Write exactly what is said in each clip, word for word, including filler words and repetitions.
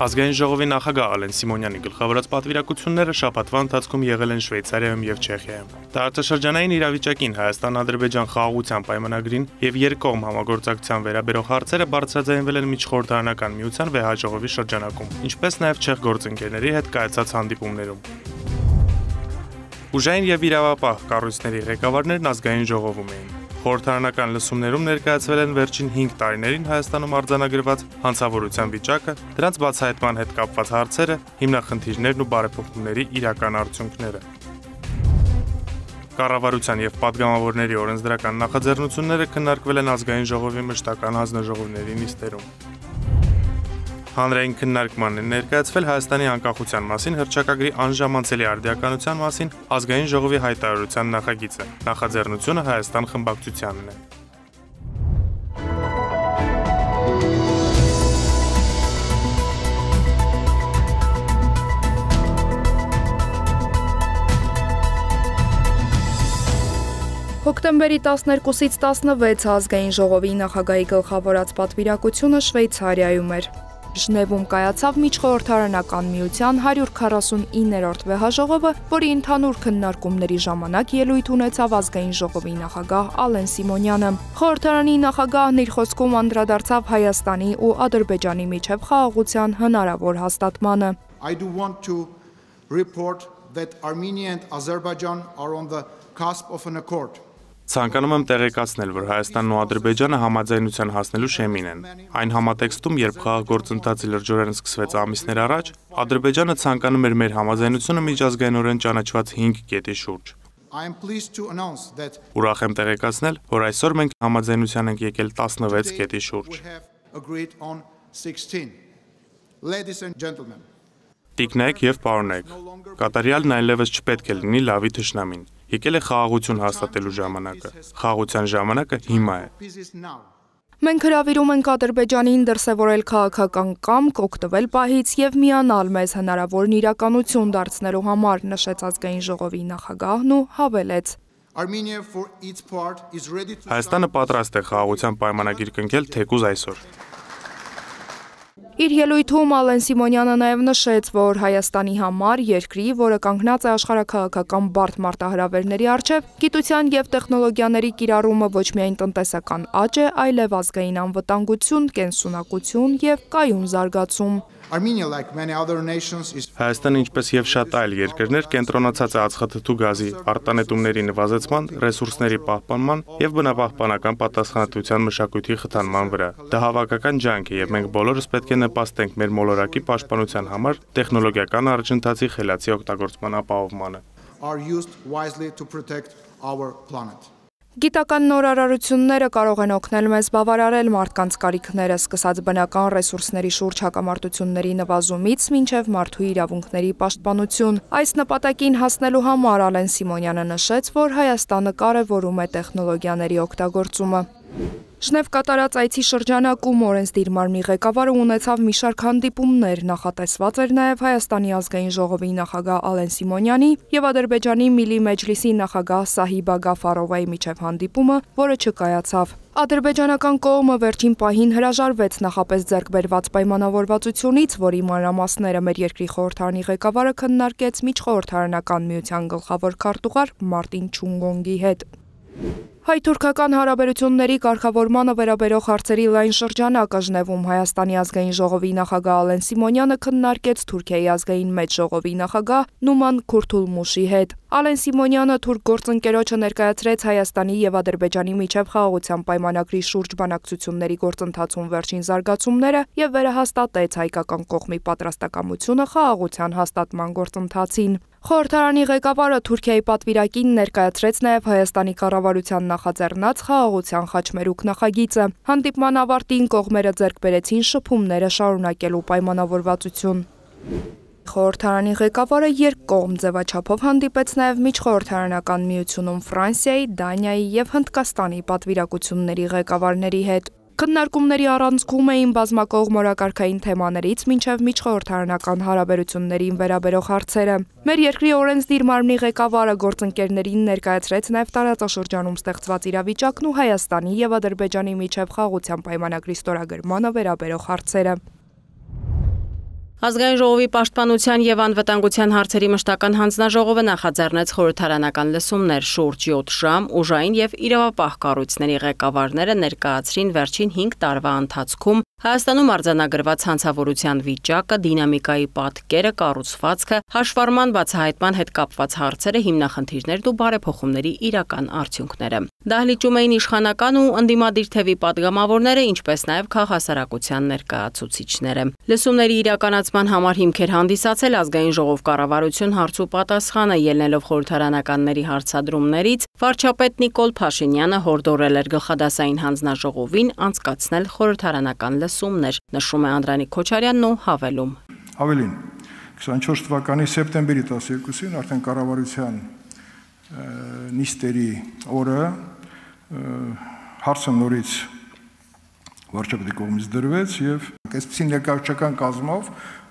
Ազգային ժողովի նախագահ Ալեն Սիմոնյանի գլխավորած պատվիրակությունները շաբաթվա ընթացքում եղել են Շվեյցարիայում եւ Չեխիայում։ Տարածաշրջանային իրավիճակին Հայաստան-Ադրբեջան խաղաղության պայմանագրին եւ երկկողմ համագործակցության վերաբերող հարցերը բարձրաձայնվել են միջխորհրդարանական միության վեհաժողովի շրջանակում, ինչպես նաեւ չեխ գործընկերների հետ կայացած հանդիպումներում։ Ուժային եւ իրավապահ կառույցների ղեկավարներն ազգային ժողովում էին։ Խորհրդարանական լսումներում ներկայացվել են վերջին հինգ տարիներին Հայաստանում արձանագրված հանցավորության վիճակը, դրանց բացահայտման հետ կապված հարցերը, հիմնախնդիրներն ու բարեփոխումների իրական արդյունքները։ Կառավարության եւ падգամավորների օրենսդրական նախաձեռնությունները քննարկվել են ազգային ժողովի մշտական հանձնաժողովների նիստերում։ Հանրային քննարկման են ներկայացվել Հայաստանի անկախության մասին հռչակագրի անժամանցելի արդիականության մասին ազգային ժողովի հայտարարության նախագիծը։ Նախաձեռնությունը Հայաստան խմբակցությանն է։ Հոկտեմբերի տասներկուսից տասնվեցը ազգային ժողովի նախագահի գլխավորած պատվիրակությունը Շվեյցարիայում էր։ Ժնևում կայացավ միջխորհրդարանական միության հարյուր քառասունիններորդ վեհաժողովը, որի ընդհանուր քննարկումների ժամանակ ելույթ ունեցավ ազգային ժողովի նախագահ Ալեն Սիմոնյանը։ Խորհրդարանի նախագահն իր խոսքում անդրադարձավ Հայաստանի ու Ադրբեջանի միջև խաղաղության հնարավոր հաստատմանը։ I do want to report that Armenia and Azerbaijan are on the cusp of an accord. Ցանկանում եմ տեղեկացնել, որ Հայաստանն ու Ադրբեջանը համաձայնության հասնելու շեմին են։ Այն համատեքստում, երբ խաղաղ գործընթացը լրջորեն սկսվեց ամիսներ առաջ, Ադրբեջանը ցանկանում էր մեր համաձայնությունը միջազգայինորեն ճանաչված հինգ կետի շուրջ։ Ուրախ եմ տեղեկացնել, որ այսօր մենք համաձայնության ենք եկել տասնվեց կետի շուրջ։ Տիկնայք եւ պարոնայք, կատարյալն այլևս չպետք է լինի լավի թշնամին։ Եկել է խաղաղություն հաստատելու ժամանակը։ Խաղաղության ժամանակը հիմա է։ Մենք հրավիրում ենք Ադրբեջանին դրսևորել քաղաքական կամք, օգտվել պահից եւ միանալ մեզ հնարավորն իրականություն դարձնելու համար, նշեց ազգային ժողովի նախագահն ու հավելեց. Հայաստանը պատրաստ է խաղաղության պայմանագիր կնքել թեկուզ այսօր։ Իր ելույթում Ալեն Սիմոնյանը նաև նշեց, որ Հայաստանի համար երկրի, որը կանգնած է աշխարհաքաղաքական բարդ մարտահրավերների առջև, գիտության եւ տեխնոլոգիաների կիրառումը ոչ միայն տնտեսական աճ է, այլև ազգային անվտանգություն, կենսունակություն եւ կայուն զարգացում։ Հայաստանը, ինչպես եւ շատ այլ երկրներ, կենտրոնացած է ածխաթթու գազի արտանետումների նվազեցման, ռեսուրսների պահպանման եւ բնապահպանական պատասխանատվության մշակույթի խթանման վրա։ Դա հավաքական ջանք է եւ մենք բոլորս պետք է նպաստենք մեր մոլորակի պաշտպանության համար տեխնոլոգիական առաջընթացի խելացի օգտագործման ապահովմանը։ Գիտական նորարարությունները կարող են օգնել մեզ բավարարել մարդկանց կարիքները, սկսած բնական ռեսուրսների շուրջ հակամարտությունների նվազումից մինչև մարդու իրավունքների պաշտպանություն։ Այս նպատակին հասնելու համար Ալեն Սիմոնյանը նշեց, որ Հայաստանը կարևորում է տեխնոլոգիաների օգտագործումը։ Ժնև կատարած այցի շրջանակում օրենսդիր մարմնի ղեկավարը ունեցավ մի շարք հանդիպումներ, նախատեսված էր նաև Հայաստանի ազգային ժողովի նախագահ Ալեն Սիմոնյանի եւ Ադրբեջանի Միլի Մեջլիսի նախագահ Սահիբա Գաֆարովայի միջև հանդիպումը, որը չկայացավ։ Ադրբեջանական կողմը վերջին պահին հրաժարվեց նախապես ձեռք բերված պայմանավորվածությունից, որի մանրամասները մեր երկրի խորհրդարանի ղեկավարը քննարկեց միջխորհրդարանական միության գլխավոր քարտուղար Մարտին Չունգոնգի հետ։ Հայ-թուրքական հարաբերությունների կարգավորմանը վերաբերող հարցերի լայն շրջանակը Ժնևում Հայաստանի ազգային ժողովի նախագահ Ալեն Սիմոնյանը քննարկեց Թուրքիայի ազգային մեծ ժողովի նախագահ Նուման Քուրթուլմուշի հետ։ Ալեն Սիմոնյանը թուրք գործընկերոջը ներկայացրեց Հայաստանի եւ Ադրբեջանի միջև խաղաղության պայմանագրի շուրջ բանակցությունների գործընթացում վերջին զարգացումները եւ վերահաստատեց հայկական կողմի պատրաստակամությունը խաղաղության հաստատման գործընթացին։ Խորհրդարանի ղեկավարը Թուրքիայի պատվիրակին ներկայացրեց նաև Հայաստանի կառավարության նախաձեռնած խաղաղության խաչմերուկ նախագիծը։ Հանդիպման ավարտին կողմերը ձեռք բերեցին շփումները շարունակելու պայմանավորվածություն։ Խորհրդարանի ղեկավարը երկկողմ ձևաչափով հանդիպեց նաև միջխորհրդարանական միությունում Ֆրանսիայի, Դանիայի եւ Հնդկաստանի պատվիրակությունների ղեկավարների հետ։ Քննարկումների առանցքում էին բազմակողմ օրակարգային թեմաներից մինչև միջխորհրդարանական հարաբերություններին վերաբերող հարցերը։ Մեր երկրի օրենսդիր մարմնի ղեկավարը գործընկերներին ներկայացրեց նաև տարածաշրջանում ստեղծված իրավիճակն ու Հայաստանի եւ Ադրբեջանի միջև խաղաղության պայմանագրի ստորագրմանը վերաբերող հարցերը։ Ազգային ժողովի պաշտպանության եւ անվտանգության հարցերի մշտական հանձնաժողովը նախաձեռնեց խորհրդարանական լսումներ շուրջ յոթ ժամ, ուժային եւ իրավապահ կառույցների ղեկավարները ներկայացրին վերջին հինգ տարվա ընթացքում Հայաստանում արձանագրված հանցավորության վիճակը, դինամիկայի պատկերը, կառուցվածքը, հաշվառման բացահայտման հետ կապված հարցերը, հիմնախնդիրներն ու բարեփոխումների իրական արդյունքները։ Դահլիճում էին իշխանական ու ընդդիմադիր թևի падգամավորները, ինչպես նաև քաղաքասարակության ներկայացուցիչները։ Լսումների իրականացման համար հիմքեր հանդիսացել ազգային ժողով կառավարություն հարց ու պատասխանը, ելնելով խորհրդարանականների հարցադրումներից, վարչապետ Նիկոլ Փաշինյանը հորդորել էր գլխադասային հանձնաժողովին անցկացնել խորհրդարանական լսումներ, նշում է Անդրանիկ Քոչարյանն ու հավելում. Ավելին, քսանչորս թվականի սեպտեմբերի տասներկուսին արդեն կառավարության նիստերի օրը հարցը նորից վարչապետի կողմից դրվեց եւ այսպիսի ներկայացական կազմով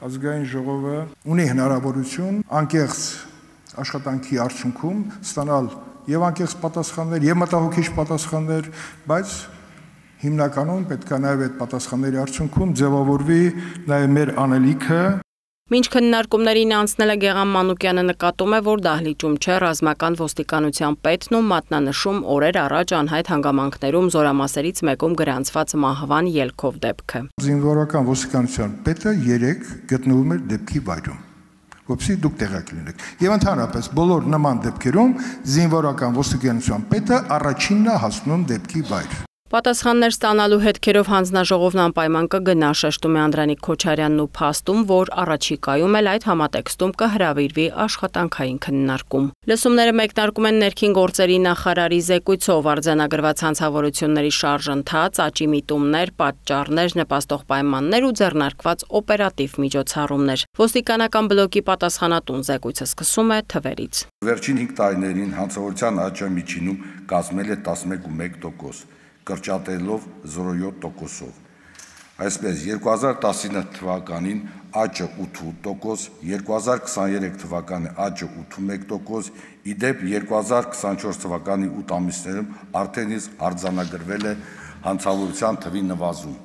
ազգային ժողովը ունի հնարավորություն անկեղծ աշխատանքի արդյունքում ստանալ եւ անկեղծ պատասխաններ եւ մտահոգիչ պատասխաններ, բայց հիմնականում պետք է նաև այդ պատասխանների արդյունքում ձևավորվի նաև մեր անելիքը։ Մինչ քննարկումներին անցնելը Գեղամ Մանուկյանը նկատում է, որ դահլիճում չէ ռազմական ոստիկանության պետն ու մատնանշում օրեր առաջ անհայտ հանգամանքներում զորամասերից մեկում գրանցված մահվան ելքով դեպքը։ Զինվորական ոստիկանության պետը երեք գտնվում էր դեպքի վայրում, որպեսզի դուք տեղյակ լինեք։ Եվ ընդհանրապես բոլոր նման դեպքերում զինվորական ոստիկանության պետը առաջինն է հասնում դեպքի վայր։ Պատասխաններ ստանալու հետքերով հանձնաժողովն անպայման կգնա, շեշտում է Անդրանիկ Քոչարյանն ու փաստում, որ առաջիկայում էլ այդ համատեքստում կհրավիրվի աշխատանքային քննարկում։ Լսումները մեկնարկում են ներքին գործերի նախարարի զեկույցով արձանագրված հանցավորությունների շարժընթաց, աճի միտումներ, պատճառներ, նպաստող պայմաններ ու ձեռնարկված օպերատիվ միջոցառումներ։ Ոստիկանական բլոկի պատասխանատուն զեկույցը սկսում է թվերից։ Վերջին հինգ տարիներին հանցավորության աճը միջինում կազմել է տասնմեկ ու մեկ տոկոս, կրճատելով զրո յոթ տոկոսով։ Այսպես երկու հազար տասինը թվականին աճը ութ տոկոս, երկու հազար քսաներեք թվականի աճը ութսունմեկ տոկոս, իդեպ երկու հազար քսանչորս թվականի ութ ամիսներում արդեն իսկ արձանագրվել է հանցավորության թվի նվազում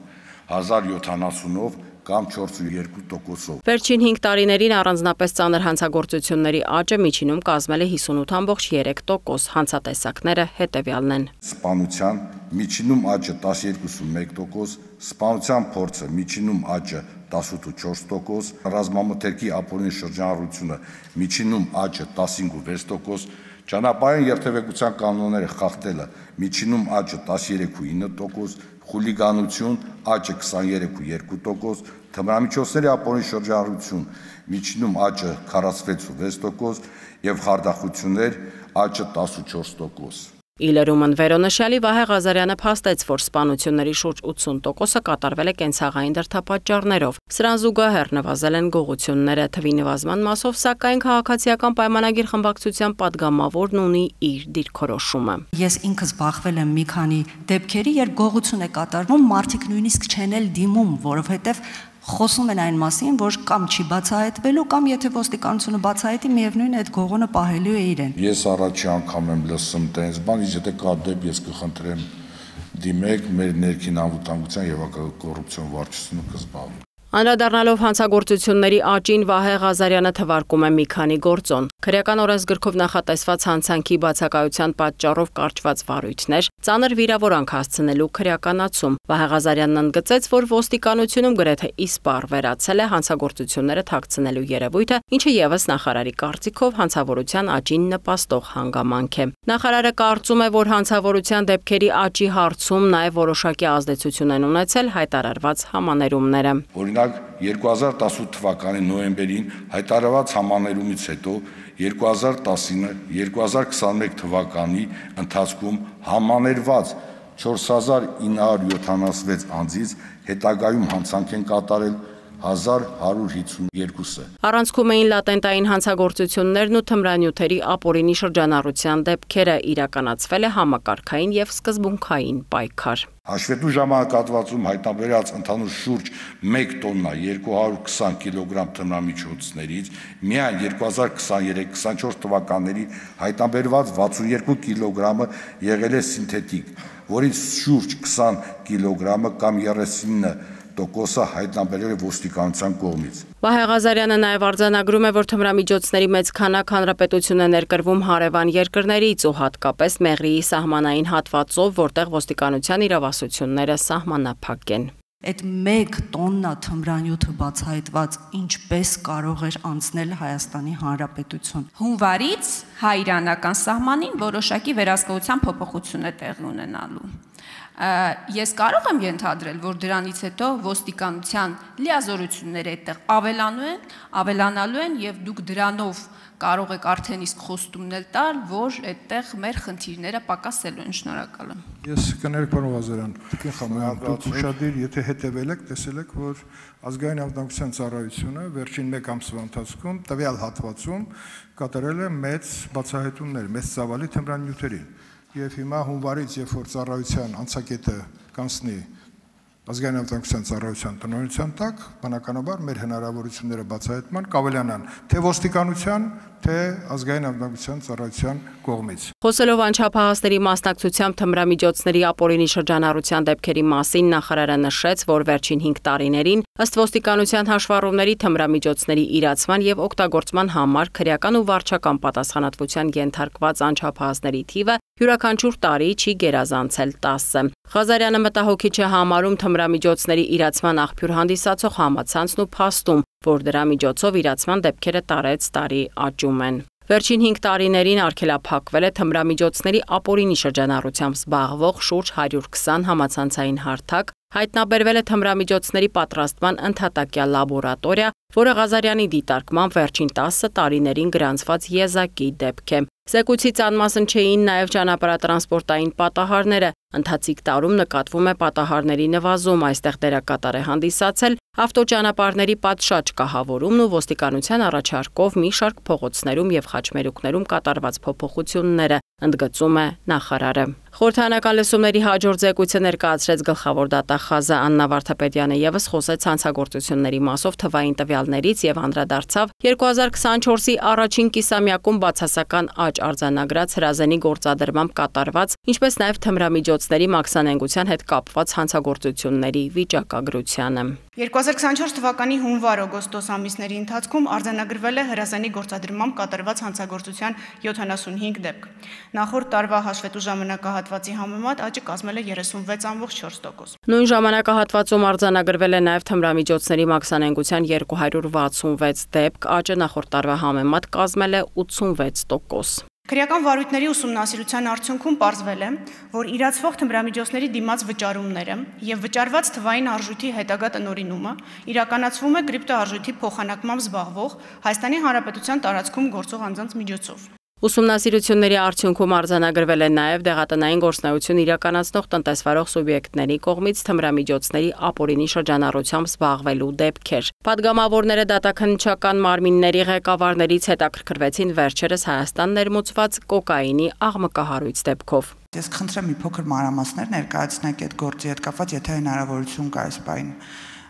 հազար յոթանասունով կամ չորսունյոթ տոկոսով։ Վերջին հինգ տարիներին առանձնապես ծանր հանցագործությունների աճը միջինում կազմել է հիսունութ ամբողջ երեք տոկոս, հանցատեսակները հետևյալն են. Սպանության միջինում աճը տասներկու ու մեկ տոկոս, սպանության փորձը միջինում աճը տասութ ու չորս տոկոս, ռազմամթերքի ապօրինի շրջանառությունը միջինում աճը տասնհինգ ու վեց տոկոս, ճանապարհային երթևեկության կանոնները խախտելը միջինում աճը տասներեք ու ինը տոկոս, խուլիգանություն աճը քսաներեք ու երկու տոկոս, թմրամիջոցների ապօրինի շրջանառություն միջինում աճը քառասունվեց ու վեց տոկոս եւ խարդախություններ աճը տասն ու չորս տոկոս։ Իլերումն վերոնշյալի Վահե Ղազարյանը փաստեց, որ սպանությունների շուրջ ութսուն տոկոսը կատարվել է կենցաղային դրդապատճառներով։ Սրան զուգահեռ նվազել են գողությունները, թվի նվազման մասով, սակայն քաղաքացիական պայմանագիր խմբակցության падգամավորն ունի իր դիրքորոշումը։ Ես ինքս բախվել եմ մի քանի դեպքերի, երբ գողություն է կատարվում, մարդիկ նույնիսկ չեն էլ դիմում, որովհետև խոսում են այն մասին, որ կամ չի բացահայտվելու, կամ եթե ոստիկանությունը բացահայտի, միևնույն է այդ գողոնը պահելու է իրեն։ Ես առաջի անգամ եմ լսում տենց բան, եթե կա դեպք, ես կխնդրեմ դիմեք, մեր ներքին անվտանգության եւ կոռուպցիոն վարչությունը կզբաղվի։ Անդրադառնալով հանցագործությունների աճին Վահե Ղազարյանը թվարկում է մի քանի գործոն։ Քրեական օրենսգրքով նախատեսված հանցանքի բացակայության պատճառով կարճված վարույթներ, ծանր վիրավորանք հասցնելու քրեականացում։ Վահե Ղազարյանն ընդգծեց, որ ոստիկանությունում գրեթե իսպառ վերացել է հանցագործությունները թաքցնելու երևույթը, ինչը եւս նախարարի կարծիքով հանցավորության աճին նպաստող հանգամանք է։ Նախարարը կարծում է, որ հանցավորության դեպքերի աճի հարցում նաեւ որոշակի ազդեցություն են ունեցել հայտարարված համաներումները։ Օրինակ երկու հազար տասութ թվականի նոյեմբերին հայտարարված համաներումից հետո երկու հազար տասինը երկու հազար քսաներեք թվականի ընթացքում համաներված չորս հազար ինը հարյուր յոթանասունվեց անձից հետագայում հանցանք են կատարել հազար հարյուր հինգսունյոթը։ Առանցքում էին լատենտային հանցագործություններն ու թմրանյութերի ապօրինի շրջանառության դեպքերը, իրականացվել է համակարգային եւ սկզբունքային պայքար։ Հաշվետու ժամանակահատվածում հայտնաբերած ընդհանուր շուրջ մեկ տոննա երկու հարյուր քսան կիլոգրամ թմրամիջոցներից միայն երկու հազար քսաներեք քսանչորս թվականների հայտնաբերված վաթսունյոթ կիլոգրամը եղել է սինթետիկ, որից շուրջ քսան կիլոգրամը կամ երեսունինը տոկոսը հայտնաբերել է ոստիկանության կողմից։ Վահե Ղազարյանը նաև արձանագրում է, որ թմրամիջոցների մեծ քանակ հանրապետություն է ներկրվում հարևան երկրներից ու հատկապես Մեղրիի սահմանային հատվածով, որտեղ ոստիկանության իրավասությունները սահմանափակ են։ Այդ մեկ տոննա թմրանյութը բացահայտված ինչպես կարող էր անցնել Հայաստանի Հանրապետություն։ Հունվարից հայ-իրանական սահմանին որոշակի վերահսկողության փոփոխություն է տեղի ունենալու։ Ես կարող եմ ենթադրել, որ դրանից հետո ոստիկանության լիազորությունները այդտեղ ավելանու են, ավելանալու են եւ դուք դրանով կարող եք արդեն իսկ խոստումներ տալ, որ այդտեղ մեր խնդիրները պակասելու են։ Շնորհակալ եմ։ Ես կներեք, պարոն Ղազարյան, դուք խմբան, դուք ուշադիր, եթե հետևել եք, տեսել եք, որ ազգային անվտանգության ծառայությունը վերջին մեկ ամսվա ընթացքում տվյալ հատվածում կատարել է մեծ բացահայտումներ, մեծ ծավալի թմրանյութերի։ Եվ հիմա հունվարից, երբ որ ծառայության անցակետը կանցնի ազգային անվտանգության ծառայության տնօրինության տակ, բնականաբար մեր հնարավորությունները բացահայտման կավելանան թե ոստիկանության, թե ազգային անվտանգության ծառայության կողմից։ Խոսելով անչափահասների մասնակցությամբ թմրամիջոցների ապօրինի շրջանառության դեպքերի մասին, նախարարը նշեց, որ վերջին հինգ տարիներին ըստ ոստիկանության հաշվառումների թմրամիջոցների իրացման եւ օգտագործման համար քրեական ու վարչական պատասխանատվության ենթարկված անչափահասների թիվը յուրաքանչյուր տարի չի գերազանցել տասը։ Ղազարյանը մտահոգիչ է համարում թմրամիջոցների իրացման աղբյուր հանդիսացող համացանցն ու փաստում, որ դրա միջոցով իրացման դեպքերը տարեց տարի աճում են։ Վերջին հինգ տարիներին արգելափակվել է թմրամիջոցների ապօրինի շրջանառությամբ զբաղվող շուրջ հարյուր քսան համացանցային հարթակ, հայտնաբերվել է թմրամիջոցների պատրաստման ընդհատակյա լաբորատորիա, որը Ղազարյանի դիտարկմամբ վերջին տասը տարիներին գրանցված եզակի դեպք է։ Զեկույցից անմասն չէին նաև ճանապարհատրանսպորտային պատահարները։ Ընթացիկ տարում նկատվում է պատահարների նվազում, այստեղ դերակատար է հանդիսացել ավտոճանապարհների պատշաճ կահավորումն ու ոստիկանության առաջարկով մի շարք փողոցներում եւ խաչմերուկներում կատարված փոփոխությունները, ընդգծում է նախարարը։ Խորհրդարանական լսումների հաջորդ զեկույցը ներկայացրեց գլխավոր դատախազը Աննա Վարդապետյանը եւս խոսեց հանցագործությունների մասով թվային տվյալներից եւ անդրադարձավ երկու հազար քսանչորսի առաջին կիսամյակում բացասական աճ արձանագրած հրազենի գործադրմամբ կատարված, ինչպես նաեւ թմրամիջոցների մաքսանենգության հետ կապված հանցագործությունների վիճակագրությանը։ երկու հազար քսանչորս թվականի հունվար-օգոստոս ամիսների ընթացքում արձանագրվել է հրազենի գործադրմամբ կատարված հանցագործության յոթանասունհինգ դեպք։ Նախորդ տարվա հաշվետու ժամանակահատվածի համեմատ աճը կազմել է երեսունվեց կόμμα չորս տոկոս։ Նույն ժամանակահատվածում արձանագրվել է նաև թմրամիջոցների մաքսանենգության երկու հարյուր վաթսունվեց դեպք, աճը նախորդ տարվա համեմատ կազմել է ութսունվեց տոկոս։ Քրեական վարույթների ուսումնասիրության արդյունքում պարզվել է, որ իրացվող թմրամիջոցների դիմաց վճարումները եւ վճարված թվային արժույթի հետագա տնօրինումը իրականացվում է կրիպտոարժույթի փոխանակմամբ զբաղվող Հայաստանի Հանրապետության տարածքում գործող անձանց միջոցով։ Ուսումնասիրությունների արդյունքում արձանագրվել է նաև դեղատնային գործունեություն իրականացնող տնտեսվարող սուբյեկտների կողմից թմրամիջոցների ապօրինի շրջանառությամբ զբաղվելու դեպքեր։ Պատգամավորները դատաքննչական մարմինների ղեկավարներից հետաքրքրվեցին վերջերս Հայաստան ներմուծված կոկաինի աղմկահարույց դեպքով։ Ես կխնդրեմ մի փոքր մանրամասներ ներկայացնեք այդ գործի հետ կապված, եթե հնարավորություն կա այս բային։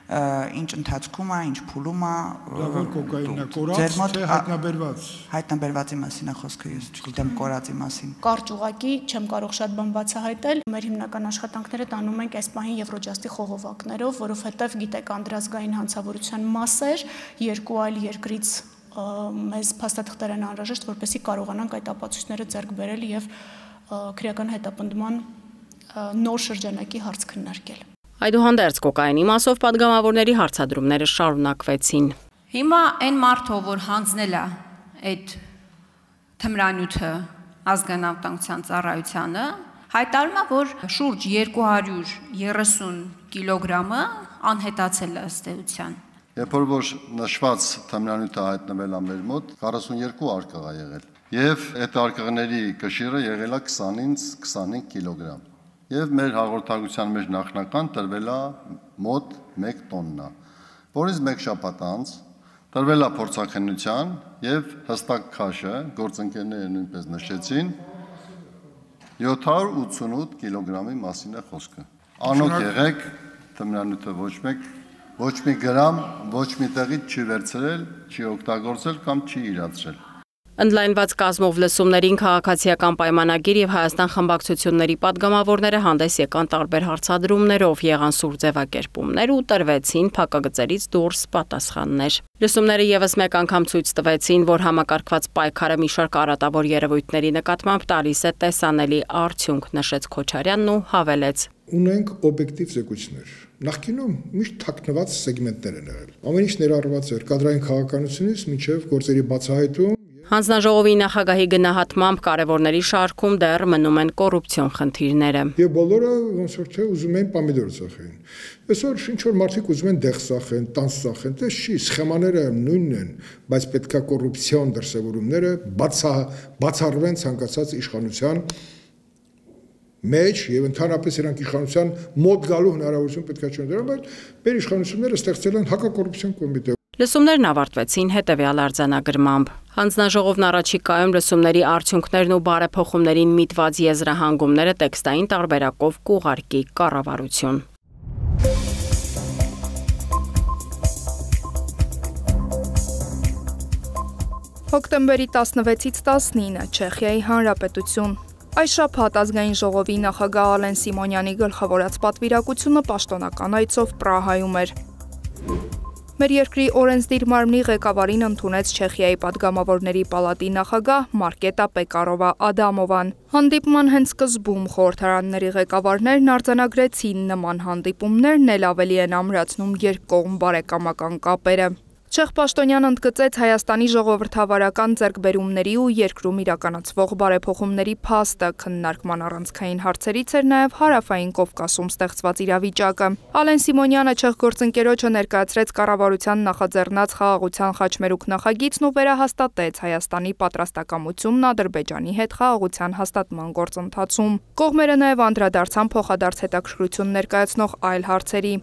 Ինչ ընթացքում է, ինչ փուլում է, որ կոկաինը կորած թե հայտնաբերված։ Հայտնաբերվածի մասին է խոսքը, ես չգիտեմ կորածի մասին։ Կարճ ուղակի չեմ կարող շատ բան բացահայտել։ Մեր հիմնական աշխատանքները տանում ենք այս պահին Եվրոջաստի խողովակներով, որովհետև գիտեք անդրազգային հանցավորության մասեր երկու այլ երկրից մեզ փաստաթղթեր են անհրաժեշտ, որպեսզի կարողանանք այդ ապացույցները ձեռք բերել եւ քրեական հետապնդման նոր շրջանակի հարց քննարկել։ Այդուհանդերձ կոկաինի մասով պատգամավորների հարցադրումները շարունակվեցին։ Հիմա այն մարդը, որ հանձնել է այդ թմրանյութը ազգային անվտանգության ծառայությանը, հայտարարում է, որ շուրջ երկու հարյուր երեսուն կիլոգրամը անհետացել է ըստ էության։ Երբ որ նշված թմրանյութը հայտնվել է մեր մոտ, քառասունյոթ արկղ է եղել։ Եվ այդ արկղների կշիռը եղել է քսանից քսանհինգ կիլոգրամ։ Եվ մեր հաղորդակցության մեջ նախնական տրվել է մոտ մեկ տոննա, որից մեկ շաբաթ անց տրվել է փորձաքննության եւ հստակ քաշը գործընկերները նույնպես նշեցին յոթ հարյուր ութսունութ կիլոգրամի մասին է խոսքը։ Անոք եղեք, թմրանյութը ոչ մեկ ոչ մի գրամ ոչ մի տեղից չի վերցրել, չի օգտագործել կամ չի իրացրել։ Ընդլայնված կազմով լսումներին քաղաքացիական պայմանագիր եւ Հայաստան խմբակցությունների падգամավորները հանդես եկան տարբեր հարցադրումներով, եղան սուր ձևակերպումներ ու տրվեցին փակագծերից դուրս պատասխաններ։ Լսումները եւս մեկ անգամ ցույց տվեցին, որ համակարգված պայքարը մի շարք արատավոր երևույթների նկատմամբ տալիս է տեսանելի արդյունք, նշեց Քոչարյանն ու հավելեց. Ունենք օբյեկտիվ զեկույցներ։ Նախկինում միշտ թաքնված սեգմենտներ են եղել։ Ամեն ինչ ներառված էր կադրային քաղաքականությունից մինչև գործերի բացահայտում։ Հանձնաժողովի նախագահի գնահատմամբ կարևորների շարքում դեռ մնում են կոռուպցիոն խնդիրները։ Եվ բոլորը ոնց որ թե ուզում են պամիդոր ծախեն։ Այսօր ինչ որ մարդիկ ուզում են դեղ ծախեն, տանց ծախեն, դա չի, սխեմաները նույնն են, բայց պետքա կոռուպցիոն դրսևորումները բացա բացառվեն ցանկացած իշխանության մեջ եւ ընդհանրապես իրանք իշխանության մոտ գալու հնարավորություն պետք է չունեն, դրա համար մեր իշխանությունները ստեղծել են հակակոռուպցիոն կոմիտե։ Լսումներն ավարտվեցին հետևյալ արձանագրմամբ. Հանձնաժողովն առաջիկայում լսումների արդյունքներն ու բարեփոխումներին միտված եզրահանգումները տեքստային տարբերակով կուղարկի կառավարություն։ Հոկտեմբերի տասնվեցից տասնինը Չեխիայի Հանրապետություն։ Այս շաբաթ ազգային ժողովի նախագահ Ալեն Սիմոնյանի գլխավորած պատվիրակությունը պաշտոնական այցով Պրահայում էր։ Մեր երկրի օրենսդիր մարմնի ղեկավարին ընդունեց Չեխիայի падգամավորների պալատի նախագահ Մարկետա Պեկարովա Ադամովան։ Հանդիպման հենց սկզբում խորհրդարանների ղեկավարներն արձանագրեցին նման հանդիպումներն էլ ավելի են ամրացնում երկկողմ բարեկամական կապերը։ Չեխ պաշտոնյան ընդգծեց Հայաստանի ժողովրդավարական ձեռքբերումների ու երկրում իրականացվող բարեփոխումների փաստը, քննարկման առանցքային հարցերից էր նաև Հարավային Կովկասում ստեղծված իրավիճակը։ Ալեն Սիմոնյանը չեխ գործընկերոջը ներկայացրեց կառավարության նախաձեռնած խաղաղության խաչմերուկ նախագիծն ու վերահաստատեց Հայաստանի պատրաստակամությունն Ադրբեջանի հետ խաղաղության հաստատման գործընթացում։ Կողմերը նաև անդրադարձան փոխադարձ հետաքրքրություն ներկայացնող այլ հարցերի։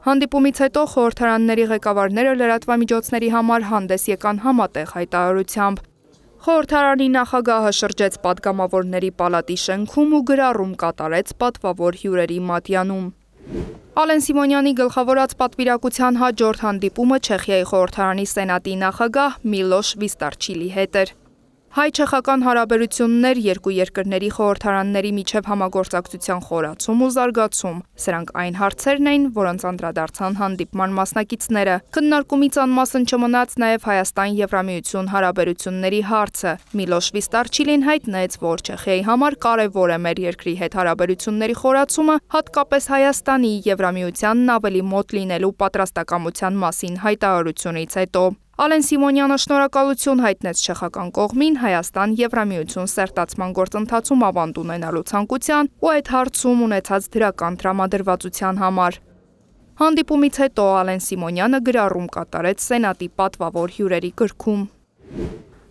Հանդիպումից հետո խորհրդարանների ղեկավարները լրատվամիջոցների համար հանդես եկան համատեղ հայտարարությամբ։ Խորհրդարանի նախագահը շրջեց падգամավորների պալատի շենքում ու գրառում կատարեց պատվավոր հյուրերի մատյանում։ Ալեն Սիմոնյանի գլխավորած պատվիրակության հաջորդ հանդիպումը Չեխիայի խորհրդարանի սենատի նախագահ Միլոշ Վիստարչիլի հետ էր։ Հայ-չեխական հարաբերություններ, երկու երկրների խորհրդարանների միջև համագործակցության խորացում ու զարգացում։ Սրանք այն հարցերն էին, որոնց անդրադարձան հանդիպման մասնակիցները։ Քննարկումից անմասն չմնաց նաև Հայաստան-Եվրամիություն հարաբերությունների հարցը։ Միլոշ Վիստարչիլին հայտնեց, որ Չեխիայի համար կարևոր է մեր երկրի հետ հարաբերությունների խորացումը, հատկապես Հայաստանի Եվրամիությանն ավելի մոտ լինելու պատրաստակամության մասին հայտարարությունից հետո։ Ալեն Սիմոնյանը շնորհակալություն հայտնեց չեխական կողմին Հայաստան-Եվրամիություն սերտացման գործընթացում ավանդ ունենալու ցանկության ու այդ հարցում ունեցած դրական տրամադրվածության համար։ Հանդիպումից հետո Ալեն Սիմոնյանը գրառում կատարեց սենատի պատվավոր հյուրերի գրքում։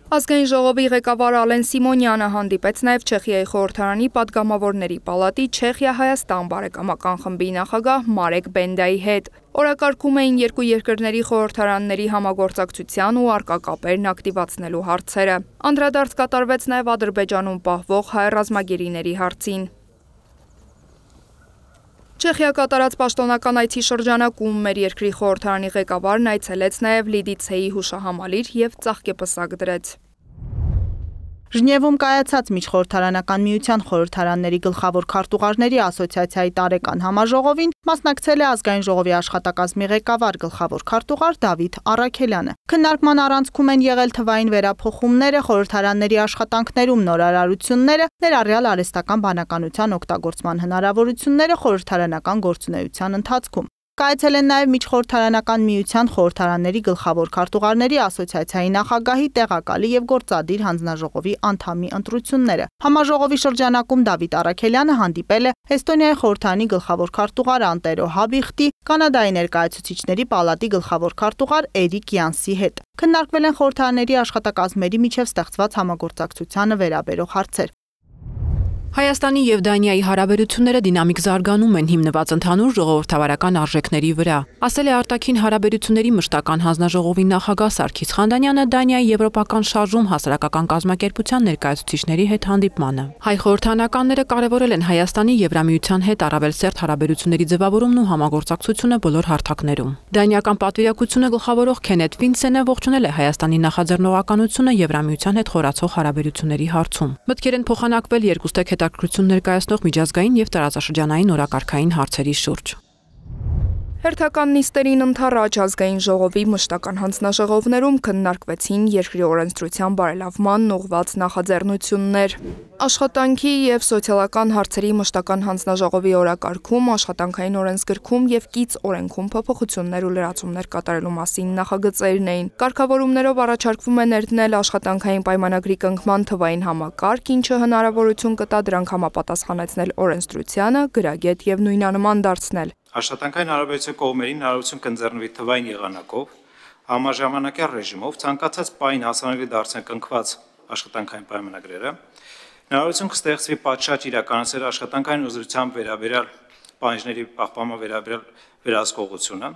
Ազգային ժողովի ղեկավար Ալեն Սիմոնյանը հանդիպեց նաև Չեխիայի խորհրդարանի падգամավորների պալատի Չեխիա-Հայաստան բարեկամական խմբի նախագահ Մարեկ Բենդայի հետ։ Օրակարգում էին երկու երկրների խորհրդարանների համագործակցության ու առկա կապերն ակտիվացնելու հարցերը։ Անդրադարձ կատարվեց նաև Ադրբեջանում պահվող հայ ռազմագերիների հարցին։ Չեխիա կատարած պաշտոնական այցի շրջանակում մեր երկրի խորհրդարանի ղեկավարն այցելեց նաև Լիդիցեի հուշահամալիր եւ ծաղկեպսակ դրեց։ Ժնևում կայացած միջխորհրդարանական միության խորհրդարանների գլխավոր քարտուղարների ասոցիացիայի տարեկան համաժողովին մասնակցել է ազգային ժողովի աշխատակազմի ղեկավար գլխավոր քարտուղար Դավիթ Առաքելյանը։ Քննարկման առանցքում են եղել թվային վերափոխումները, խորհրդարանների աշխատանքներում նորարարությունները, ներառյալ արհեստական բանականության օգտագործման հնարավորությունները խորհրդարանական գործունեության ընթացքում։ Կայացել են նաև միջխորհրդարանական միության խորհրդարանների գլխավոր քարտուղարների ասոցիացիայի նախագահի տեղակալի եւ գործադիր հանձնաժողովի անդամի ընտրությունները։ Համաժողովի շրջանակում Դավիթ Առաքելյանը հանդիպել է Էստոնիայի խորհրդարանի գլխավոր քարտուղար Անտերո Հաբիխտի, Կանադայի ներկայացուցիչների պալատի գլխավոր քարտուղար Էրիկ Յանսի հետ։ Քննարկվել են խորհրդարանների աշխատակազմերի միջև ստեղծված համագործակցությանը վերաբերող հարցեր։ Հայաստանի եւ Դանիայի հարաբերությունները դինամիկ զարգանում են հիմնված ընդհանուր ժողովրդավարական արժեքների վրա, ասել է արտաքին հարաբերությունների մշտական հանձնաժողովի նախագահ Սարգիս Խանդանյանը Դանիայի եվրոպական շարժում հասարակական կազմակերպության ներկայացուցիչների հետ հանդիպմանը։ Հայ խորհրդանականները կարևորել են Հայաստանի Եվրամիության հետ առավել սերտ հարաբերությունների ձևավորումն ու համագործակցությունը բոլոր հարթակներում։ Դանիական պատվիրակությունը գլխավորող Քենեթ Վինսենը ողջունել է Հայաստանի նախաձեռնողականությունը Եվրամիության հետ խորացող հարաբերությունների հարցում։ Մտքեր են փոխանակվել երկուստեք հետաքրքրություն ներկայացնող միջազգային եւ տարածաշրջանային օրակարգային հարցերի շուրջ։ Հերթական նիստերին ընդառաջ ազգային ժողովի մշտական հանձնաժողովներում քննարկվեցին երկրի օրենսդրության բարելավման ուղղված նախաձեռնություններ։ Աշխատանքի եւ սոցիալական հարցերի մշտական հանձնաժողովի օրակարգում, աշխատանքային օրենսգրքում եւ կից օրենքում փոփոխություններ ու լրացումներ կատարելու մասին նախագծերն էին։ Կարգավորումներով առաջարկվում է ներդնել աշխատանքային պայմանագրի կնքման թվային համակարգ, ինչը հնարավորություն կտա դրանք համապատասխանեցնել օրենսդրությանը, գրագետ եւ նույնանման դարձնել։ Աշխատանքային հարաբերության կողմերին հնարավորություն կընձեռնվի թվային եղանակով, համաժամանակյա ռեժիմով, ցանկացած պահին հասանելի դարձնել կնքված աշխատանքային պայմանագրերը, հնարավորություն կստեղծվի պատշաճ իրականացնել աշխատանքային ուզրությամբ վերաբերյալ պահանջների պահպանման վերաբերյալ վերահսկողությունը,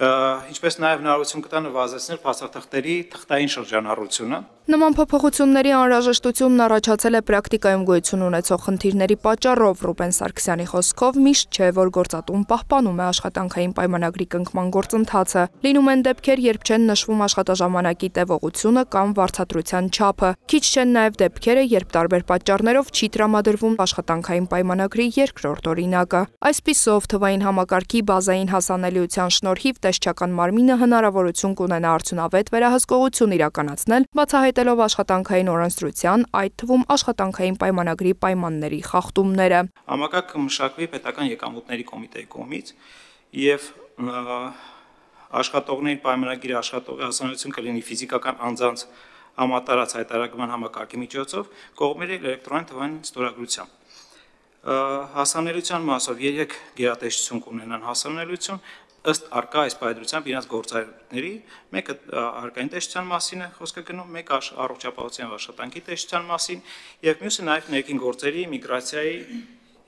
ինչպես նաև հնարավորություն կտա նվազեցնել փաստաթղթերի թղթային շրջանառությունը։ Նման փոփոխությունների անհրաժեշտությունն առաջացել է պրակտիկայում գոյություն ունեցող խնդիրների պատճառով։ Ռուբեն Սարգսյանի խոսքով միշտ չէ, որ գործատուն պահպանում է աշխատանքային պայմանագրի կնքման գործընթացը։ Լինում են դեպքեր, երբ չեն նշվում աշխատաժամանակի տևողությունը կամ վարձատրության չափը։ Քիչ չեն նաև դեպքերը, երբ տարբեր պատճառներով չի տրամադրվում աշխատանքային պայմանագրի երկրորդ օրինակը։ Այսպիսով, թվային համակարգի բազային հասանելիության շնորհիվ տեսչական մարմինը հնարավորություն կունենա արդյունավետ վերահսկողություն իրականացնել, բացահայտելով աշխատանքային օրենսդրության, այդ թվում աշխատանքային պայմանագրի պայմանների խախտումները։ Համակարգը կմշակվի պետական եկամուտների կոմիտեի կողմից եւ աշխատողների պայմանագիրը աշխատողի հասանելիություն կլինի ֆիզիկական անձանց համատարած հայտարարման համակարգի միջոցով, կողմերի էլեկտրոնային թվային ստորագրությամբ։ Հասանելիության մասով երեք գերատեսչություն կունենան հասանելիություն ըստ արկա այս պայմանությամբ իրենց գործառույթների, մեկը արկային տեսչության մասին է խոսքը գնում, մեկը առողջապահության եւ աշխատանքի տեսչության մասին եւ մյուսը նաեւ ներքին գործերի, միգրացիայի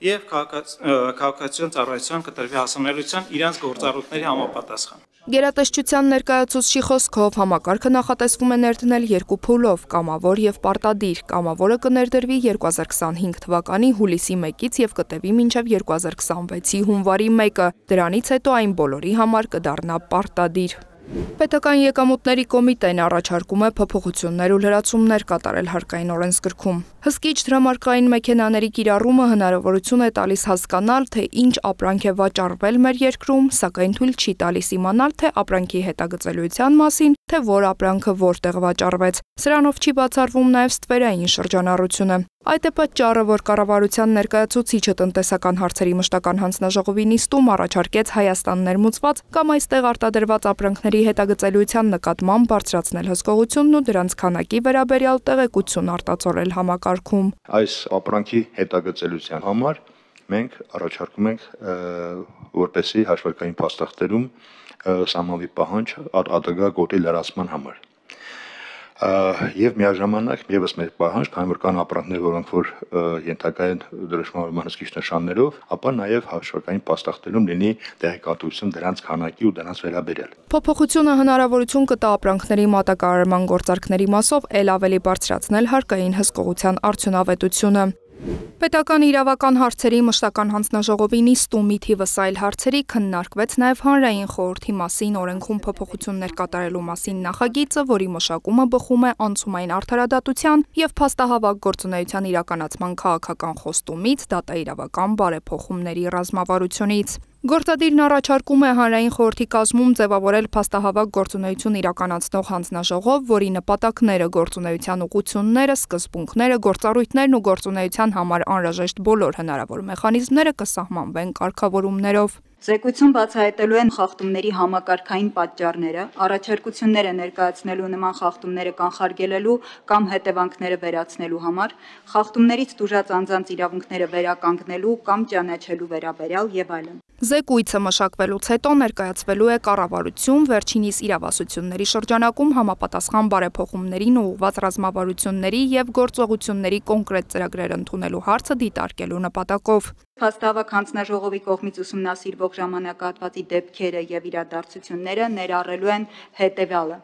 եւ քաղաքացիական ծառայության կտրվի հասանելիության իրենց գործառույթների համապատասխան։ Գերատեսչության ներկայացուցչի խոսքով համակարգը նախատեսվում է ներդնել երկու փուլով՝ կամավոր եւ պարտադիր։ Կամավորը կներդրվի երկու հազար քսանհինգ թվականի հուլիսի մեկից եւ կտևի մինչեւ երկու հազար քսանվեցի հունվարի մեկը։ Դրանից հետո այն բոլորի համար կդառնա պարտադիր։ Պետական եկամուտների կոմիտեն առաջարկում է փոփոխություններ ու լրացումներ կատարել հարկային օրենսգրքում։ Հսկիչ դրամարկղային մեքենաների կիրառումը հնարավորություն է տալիս հասկանալ, թե ինչ ապրանք է վաճառվել մեր երկրում, սակայն թույլ չի տալիս իմանալ, թե ապրանքի հետագծելիության մասին, թե որ ապրանքը որտեղ վաճառվեց։ Սրանով չի բացառվում նաև ստվերային շրջանառությունը։ Այդ է պատճառը, որ կառավարության ներկայացուցիչը տնտեսական հարցերի մշտական հանձնաժողովի նիստում առաջարկեց Հայաստան ներմուծված կամ այստեղ արտադրված ապրանքների հետագծելիության նկատմամբ բարձրացնել հսկողությունն ու դրանց քանակի վերաբերյալ տեղեկություն արտացոլել համակարգում։ Այս ապրանքի հետագծելիության համար մենք առաջարկում ենք, որպեսզի հաշվարկային փաստաթղթերում սահմանվի պահանջ արտադրյալ գոտի լրացման համար։ Եվ միաժամանակ եւս մեր պահանջ, քանի որ կան ապրանքներ, որոնք որ ենթակա են դրոշմանորման հսկիչ նշաններով, ապա նաեւ հաշվարկային փաստաթղթերում լինի տեղեկատվություն դրանց քանակի ու դրանց վերաբերյալ։ Փոփոխությունը հնարավորություն կտա ապրանքների մատակարարման գործարքների մասով ել ավելի բարձրացնել հարկային հսկողության արդյունավետությունը։ Պետական իրավական հարցերի մշտական հանձնաժողովի նիստում ի թիվս այլ հարցերի քննարկվեց նաև հանրային խորհրդի մասին օրենքում փոփոխություններ կատարելու մասին նախագիծը, որի մշակումը բխում է անցումային արդարադատության եւ փաստահավաք գործունեության իրականացման քաղաքական խոստումից, դատաիրավական բարեփոխումների ռազմավարությունից։ Գործադիրն առաջարկում է հանրային խորհրդի կազմում ձևավորել փաստահավաք գործունեություն իրականացնող հանձնաժողով, որի նպատակները, գործունեության ուղղությունները, սկզբունքները, գործառույթներն ու գործունեության համար անհրաժեշտ բոլոր հնարավոր մեխանիզմները կսահմանվեն կարգավորումներով։ Զեկույցում բացահայտելու են խախտումների համակարգային պատճառները, առաջարկությունները ներկայացնելու նման խախտումները կանխարգելելու կամ հետևանքները վերացնելու համար, խախտումներից տուժած անձանց իրավունքները վերականգնելու կամ ճանաչելու վերաբերյալ եւ այլն։ Զեկույցը մշակվելուց հետո ներկայացվելու է կառավարություն, վերջինիս իրավասությունների շրջանակում համապատասխան բարեփոխումներին ուղղված ռազմավարությունների եւ գործողությունների կոնկրետ ծրագրեր ընդունելու հարցը դիտարկելու նպատակով։ Փաստահավաք հանձնաժողովի կողմից ուսումնասիրվող ժամանակահատվածի դեպքերը եւ իրադարձությունները ներառելու են հետեւյալը.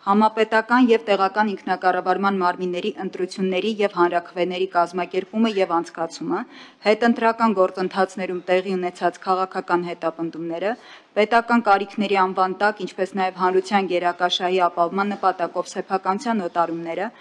Համապետական եւ տեղական ինքնակառավարման մարմինների ընտրությունների եւ հանրաքվեների կազմակերպումը եւ անցկացումը, հետընտրական գործընթացներում տեղի ունեցած քաղաքական հետապնդումները, պետական կարիքների անվան տակ, ինչպես նաեւ հանրության գերակաշահի ապահովման նպատակով սեփականության օտարումները,